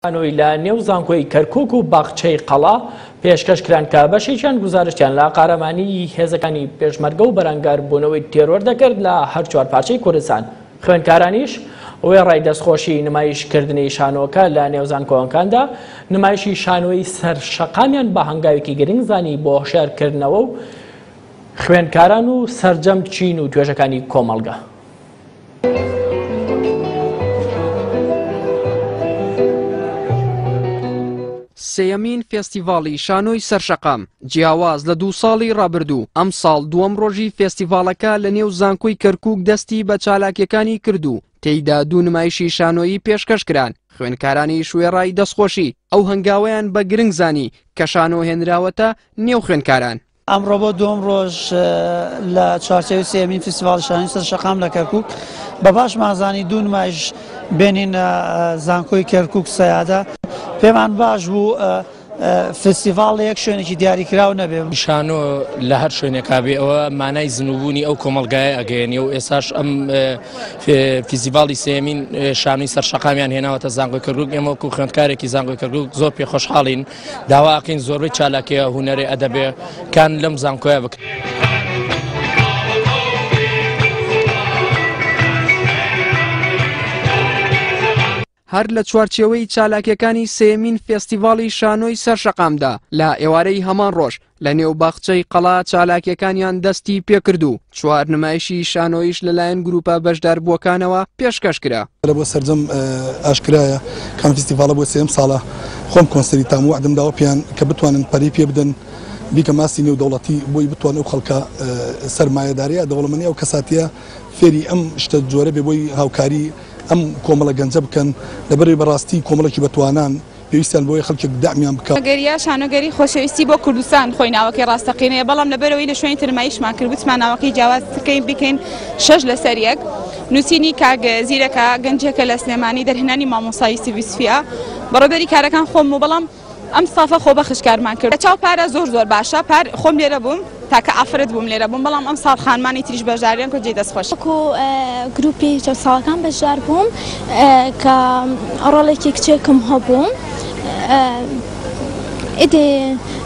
شانۆی لە نێو زانکۆی کەرکوک و باخچەی قەڵا پێشکەش کران کە بەشێکیان گوزارشتیان لە قارەمانیی هێزەکانی پێشمەرگە و بەرەنگاربوونەوەی تێرۆر دەکرد لە هەر چوار پارچەی کوردستان. خوێندکارانیش وێڕای دەستخۆشی نمایشکردنی شانۆکە لە نێو زانکۆکاندا، نمایشی شانۆی سەر شەقامیان بە هەنگاوێکی گرنگ زانی بۆ هۆشیارکردنەوە و خوێندکاران و سەرجەم چین و توێژەکانی کۆمەڵگە. سێیەمین فێستیڤاڵی شانۆی سەرشەقام، جیاواز لە دوو ساڵی ڕابردوو، ئەمساڵ دووەم ڕۆژی فێستیڤاڵەکە لە نێو زانکۆی کەرکووک دەستی بە چالاکییەکانی کرد و تێیدا دوو نمایشی شانۆیی پێشکەش کران، خوێندکارانیش وێڕای دەستخۆشی، ئەو هەنگاوەیان بە گرنگ زانی کە شانۆ هێنراوەتە نێو خوێندکاران. ئەمڕۆ بۆ دووەم ڕۆژ لە چوارچێوەی سێیەمین فیستیڤاڵی شانۆی سەر شەقام لە کەرکوک بە باشمان زانی دوو نمایش بێنینە زانکۆی کەرکوک سەیادە پێمان باش بوو فستیڤاڵ لە یەک شوێنێکی دیاریکراو نەبێ. شانۆ لە هەر شوێنێکا بێ ئەوە مانای زنووبوونی ئەو کۆمەڵگایە ئەگەیەنێ و ئێساش ئەم فیستیڤاڵی سێیەمین شانۆی سەر شەقامیان هێناوەتە زانکۆی کەرکوک ئێمە وەکو خوێندکارێکی زانکۆی کەرکوک زۆر پێخۆشحاڵین داوا ئەکەین زۆربەی چالاکیە هونەرێ ئەدەبێ کان لەم زانکۆیە بکرێت. هەر لە چوارچێوەی چالاکیەکانی سێیەمین فێستیڤاڵی شانۆی سەر شەقامدا لە ئێوارەی هەمان ڕۆژ لە نێو باخچەی قەڵا چالاکیەکانیان دەستی پێکرد و چوار نمایشی شانۆیش لەلایەن گروپە بەشداربووەکانەوە پێشکەش کرا. بۆ سەرجەم ئاشکرایە کە ئەم فیستیڤاڵە بۆ سێیەم ساڵە خۆم کۆنسێری تام وەعدم داوە پێیان کە بتوانن پەرەی پێ بدەن بیکەم ئاستی نێودەوڵەتی بۆی بتوان ئەو خەڵکە سەرمایەدارەیە دەوڵەمەنی ئەو کەساتیە فێری ئەم شتە جۆرە بێ بۆی هاوکاری ئەم کۆمەڵە گەنجە بکەن لەبەرئەوەی بەڕاستی کۆمەڵێکی بەتوانان پێویستیان بەوەیە خەڵکێک دەعمیان بکا. شانۆگەریە شانۆگەری خۆشەویستی بۆ کوردستان خۆی ناوەکەی ڕاستەقینەیە بەڵام لەبەرئەوەی لە شوێنی تر نمایشمان کرد وتمان ناوەکەی جیاواز بکەین بیکەین شەش لەسەر یەک نووسینی کاک زیرەکە گەنجێکە لە سلێمانی دەرهێنانی مامۆستا یوسف یوسفیە بەڕێوبەری کارەکان خۆم و بەڵام ئەم ستافە خۆبەخش کارمان کرد لە چاو پارە زۆر زۆر باشە پار خۆم لێرە بووم تاکە ئافرەت بووم لێرە بووم بەڵام ئەمساڵ خانمانی تریش بەشداریان کرد جێی دەست خۆشی. وەکو گروپی چەوساوەکان بەشدار بووم کە ڕۆڵێکی کچێکم هەبوو ئیدی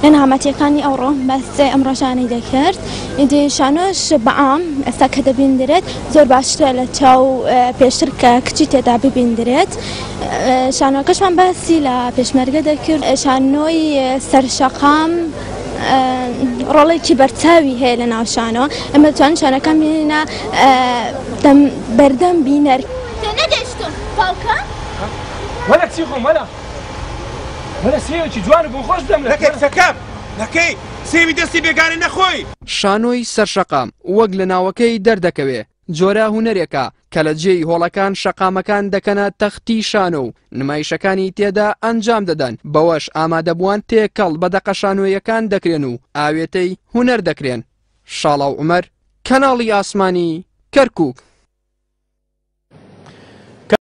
لە نەهامەتیەکانی ئەوڕۆ باس ئەم ڕۆژانەی دەکرد ئیدی شانۆش بەعام ئێستا کە دەبیندرێت زۆر باشترە لە چاو پێشتر کە کچی تێدا ببیندرێت شانۆکەشمان باسی لە پێشمەرگە دەکرد شانۆی سەرشەقام ڕۆڵێکی بەرچاوی هەیە لە ناو شانۆ ئەمە توان شانەکان بینە بەردەم بینەر. تێنەگەیشتم باوکە؟ وەرە کچی خۆم وەرە وەرە سێوێکی جوان و بۆنخۆش بدەم لە نەکەی کچەکەم نەکەی سێوی دەستی بێگانە نەخۆی. شانۆی سەرشەقام وەک لە ناوەکەی دەردەکەوێ جۆرە هونەرێکە کە لە جێی هۆڵەکان شەقامەکان دەکەنە تەختی شانۆ و نمایشەکانی تێدا ئەنجام دەدەن، بەوەش ئامادەبووان تێکەڵ بە دەقە شانۆییەکان دەکرێن و ئاوێتەی هونەر دەکرێن. شاڵاو عومەر، کەناڵی ئاسمانی، کەرکوک.